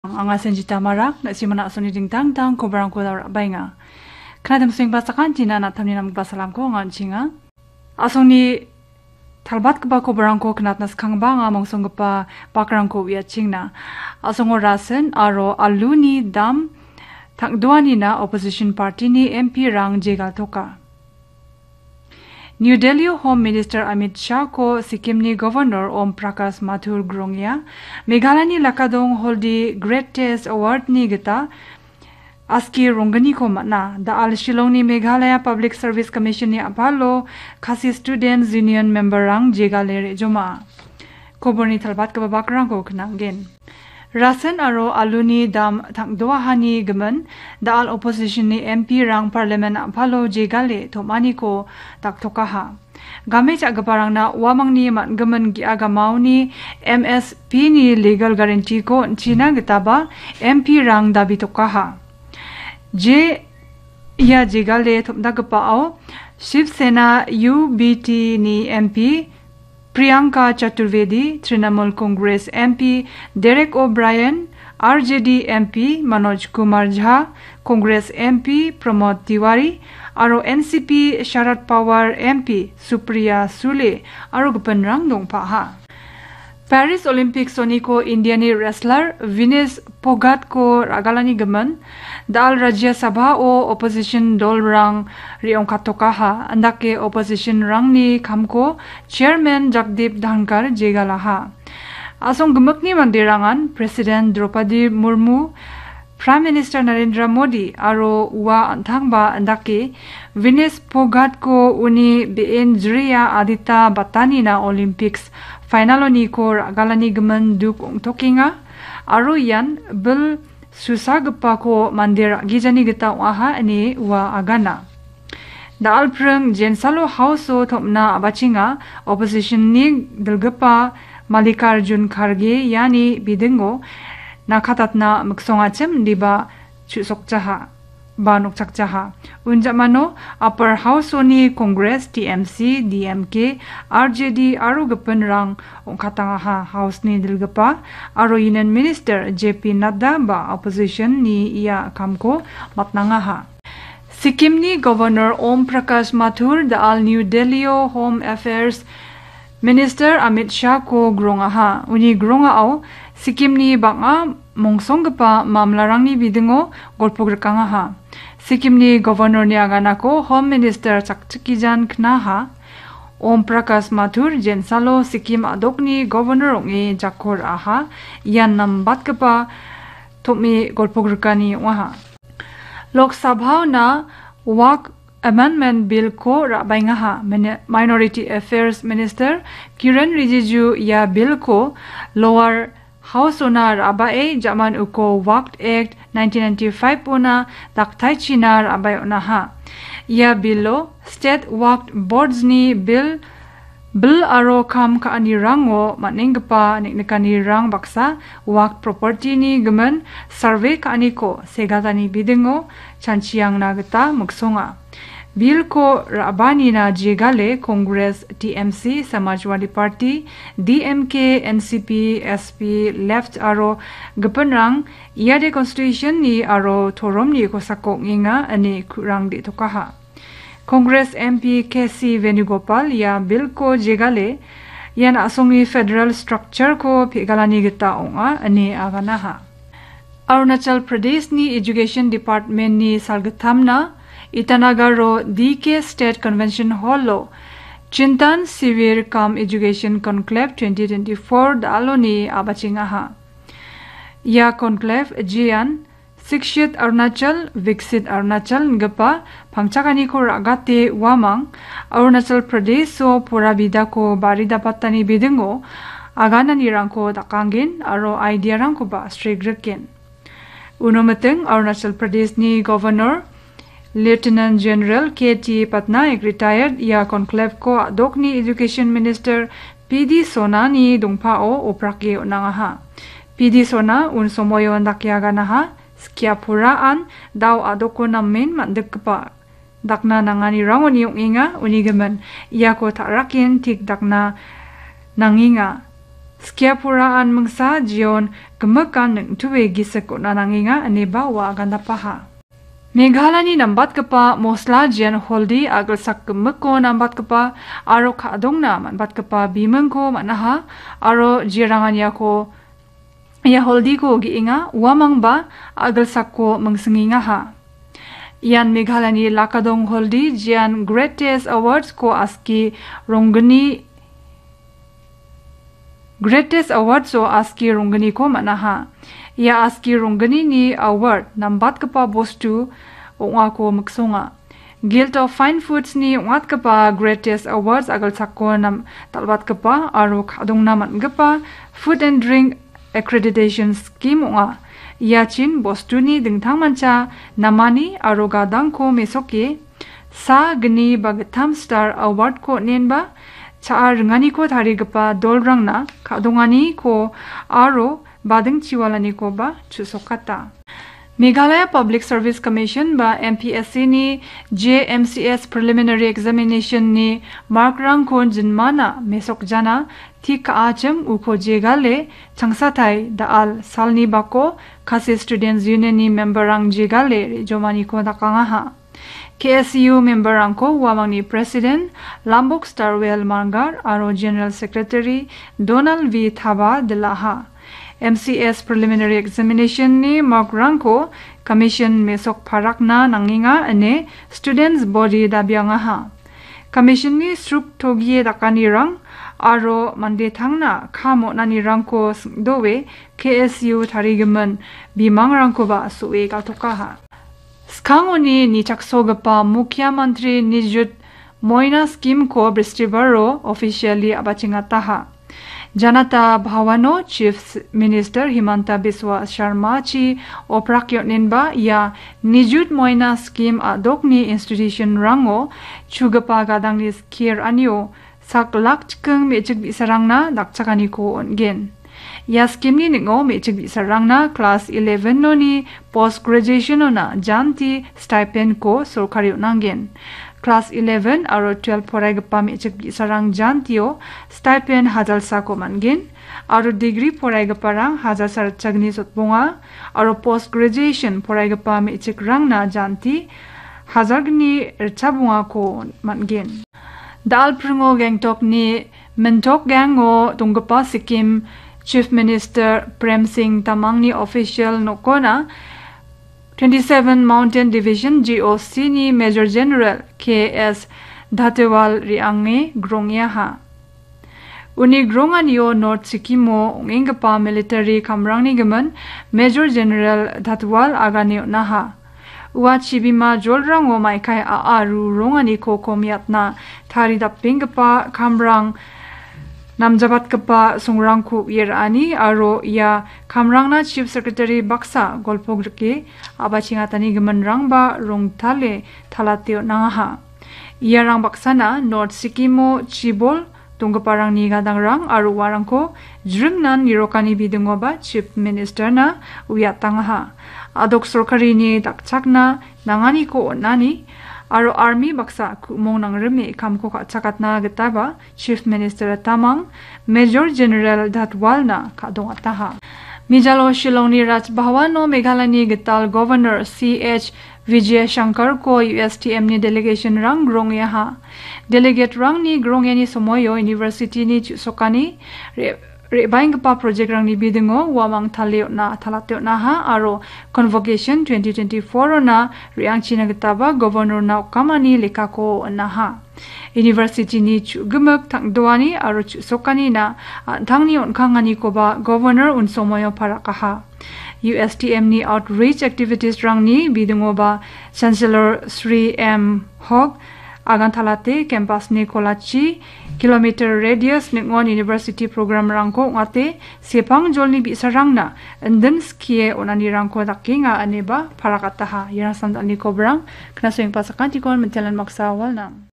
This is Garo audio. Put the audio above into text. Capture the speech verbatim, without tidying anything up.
Anga Senjita Marak, na·simana a·songni dingtang dingtang kobarangko ra·baenga. Knadim suengba sakantina na·tamni namgipa salamko anga on·chenga. A·songni talbatgipa kobarangko knatna skangba anga mongsonggipa bakrangko uiachengna. A·songo rasin aro aluni dam tangdoanina opposition party-ni M P-rang jegaltoka. New Delhi-o Home Minister Amit Shah-ko Sikkim-ni Governor Om Prakash Mathur grongia. Meghalayani Lakadong Hall-di Great Test Award-ni gita aski ronggniko man·a. Da·al Shillong-ni Meghalaya Public Service Commission-ni a·palo Khasi Students Union member-rang jegale re·joma. Koborni talbatgipa bakrangko knanggen. Rasin aro aluni dam tangdoahani gimin, da·al opposition-ni M P-rang parliament a·palo jegale tom·aniko daktokaha. Game cha·giparangna uamangni man·gimin ge·a gamaoni M S P-ni legal guarantee-ko on·china gitaba M P-rang dabitokaha. Je ia jegale tom·dagipao Shiv Sena U B T-ni M P Priyanka Chaturvedi, Trinamool Congress M P Derek O'Brien, R J D M P Manoj Kumar Jha, Congress M P Pramod Tiwari, aro N C P Sharad Pawar M P Supriya Sule, aro gipinrang dongpaha. Paris Olympics-oniko India-ni wrestler Vinesh Phogat-ko ra·galani gimin, da·al Rajya Sabha-o opposition dolrang re·ongkatokaha, andake opposition-rangni kamko Chairman Jagdeep Dhankhar jegalaha. A·song gimikni manderangan President Draupadi Murmu, Prime Minister Narendra Modi aro ua an·tangba andake Vinesh Phogat-ko uni be·en jria Adita Batanina Olympics final-oniko ra·galani gimin duk ong·tokenga aro ian bil susagipako mande ra·gijani gita ong·aha ine ua agana. Da·alpring Jensalo House-o tom·na a·bachenga opposition-ni dilgipa Mallikarjun Kharge iani bidingo nakatatna miksongachim indiba chu·sokjaha ba nokchakjaha. Unjamano Upper House-oni Congress, T M C, D M K, R J D aro gipinrang ong·katangaha. House-ni dilgipa aro Union Minister J P Nadda ba opposition-ni ia kamko matnangaha. Sikkim-ni Governor Om Prakash Mathur da·al New Delhi-o Home Affairs Minister Amit Shah-ko grongaha. Uni grongao Sikkim-ni bang·a mongsonggipa mamlarangni bidingo golpo grikangaha. Sikkim-ni Governor-ni aganako Home Minister Chakchikijan knaha. Om Prakash Mathur Jensalo Sikkim a·dokni Governor ong·e jako ra·aha. Ian nambatgipa tom·e golpo grikani ong·aha. Lok Sabha-ona Waqf Amendment Bill-ko ra·baengaha. Mini-, Minority Affairs Minister Kiren Rijiju ia Bill-ko Lower House-ona ra·bae ja·man uko Waqf Act nineteen ninety-five-ona daktaichina ra·bae on·aha. Ia Bill-o State Waqf Boards-ni Bill Bil aro kam ka·anirango man·enggipa neng·nikanirang baksa Waqf property-ni gimin survey ka·aniko segatani bidingo chanchiangna gita miksonga. Bill-ko ra·baanina jegale Congress, T M C, Samajwadi Party, D M K, N C P, S P, Left aro gipinrang iade Constitution-ni aro toromni kosako ong·enga ine ku·rang de·tokaha. Congress M P K C Venugopal ia Bill-ko jegale, ian a·songni federal structure-ko pe·galani gita ong·a ine aganaha. Arunachal Pradesh-ni Education Department-ni salgittamna Itanagar-o D K State Convention Hall-o Chintan Shivir cum Education Conclave twenty twenty-four da·aloni a·bachengaha. Ia conclave jean Shikshit Arunachal, Viksit Arunachal ingipa pangchakaniko ra·gate uamang Arunachal Pradesh-o pora bidako bari dapatani bidingo agananirangko dakanggen aro idea-rangkoba sregriken. Uno miting Arunachal Pradesh-ni Governor Lieutenant General K T Patnaik, retired, ia conclave-ko a·dokni Education Minister P D Sonani dongpao oprake on·angaha. P D Sona un somoio indake aganaha, skia puraan dao a·doko namen man·dikgipa dakna nanganirangoni ong·enga, uni gimin iako ta·raken tik dakna nangenga. Skia puraan mingsa Jeon gimikan ning·tue gisik on·a nangenga ineba ua agandapaha. Meghalayani nambatgipa mosla jian holdi a·gilsak gimikko nambatgipa aro ka·dongna man·batgipa bimingko man·aha aro jiranganiako ia holdiko ge·enga, uamangba a·gilsakko mingsing·engaha. Ian Meghalayani Lakadong Holdi jian Greatest Awards-ko aski ronggni, Greatest Awards-o aski ronggniko man·aha. Ia aski ronggnini award nambatgipa bostu ong·ako miksonga. Guild of Fine Foods-ni ong·atgipa Greatest Awards a·gilsakko nam-, dal·batgipa aro ka·dongna man·gipa Food and Drink Accreditation Scheme ong·a. Iachin bostuni dingtangmancha namani aro gadangko mesoke sa gni ba gittam star award-ko on·enba cha·a ringaniko tarigipa dolrangna ka·donganiko aro bading chiwalanikoba chu·sokata. Meghalaya Public Service Commission ba M P S C-ni J M C S Preliminary Examination-ni mark-rangko jinmana mesokjana tik ka·achim uko jegale changsatai da·al salni bako Khasi Students Union-ni member-rang jegale re·jomaniko dakangaha. K S U member-rangko uamangni President Lambok Starwell Marngar aro General Secretary Donald V Thaba dilaha. M C S Preliminary Examination-ni mark-rangko Commission mesok parakna nangenga ine Students Body dabiangaha. Commission-ni sruktogie dakanirang aro mande tangna kam on·anirangko sing·doe K S U tarigimin bimangrangkoba so·e galtokaha. Skangoni nichaksogipa Mukhyamantri Nijut Moina Scheme-ko Bristibaro officially a·bachengataha. Janata Bhavano Chief Minister Himanta Biswa Sharma-chi oprak on·enba ia Nijut Moina Scheme a·dokni institution-rango chugipa gadangni skie ra·anio sak lak chiking me·chik bi·sarangna dakchakaniko on·gen. Ia scheme-ni ning·o me·chik bi·sarangna class eleven-oni post graduation-ona janti stipend-ko sorkari on·angen. Class eleven aro twelve poraigipa me·chik bi·sarang jantio stipend hajalsako man·gen, aro degree poraigiparang hajalsa ritchagni sotbonga, aro post graduation poraigipa me·chikrangna janti hajalgni ritchabongako man·gen. Dal·pringo Gangtokni Mintok Gango donggipa Sikkim Chief Minister Prem Singh Tamangni official nokona twenty-seven Mountain Division G O C-ni Major General K S Dhatiwal re·ange grongiaha. Uni gronganio North Sikkimo ong·enggipa military kamrangni gimin Major General Dhatiwal agane on·aha. Ua chibima jolrango maikai a·a ru ronganiko komiatna taridapenggipa kamrang namjabatgipa songrangko uie ra·ani aro ia kamrangna Chief Secretary baksa golpo grike a·bachengatani giminrangba rongtale talate on·angaha. Iarang baksana North Sikkimo chibol donggiparangni gadangrang aro uarangko jringnan nirokani bidingoba Chief Minister-na uiatangaha. A·dok sorkarini dakchakna nanganiko on·ani aro army baksa ku·mong nangrime kamko ka·chakatna gitaba Chief Minister Tamang Major General Dhatiwal-na ka·dongataha. Mijalo Shillongni Raj Bhavan-o Meghalayani gital Governor C H Vijayashankarko U S T M-ni delegation-rang grongiaha. Delegate-rangni grongiani somoio university-ni chu·sokani re-, re·baenggipa project-rangni bidingo uamang tale on·a, talate on·aha aro Convocation twenty twenty-four-ona re·angchina gitaba Governor-na okamani lekako on·aha. University-ni chu·gimik tangdoani aro chu·sokanina an·tangni on·kanganikoba Governor unsomoio parakaha. U S T M-ni outreach activities-rangni bidingoba Chancellor Sri M Hok agantalate campus-ni kolachi kilometer radius ning·on university program-rangko ong·ate sepangjolni bi·sarangna indin skie on·anirangko dakenga ineba parakataha. Iarang samdalni kobrang, knasoengpa sakantikon mintelan maksa walnang.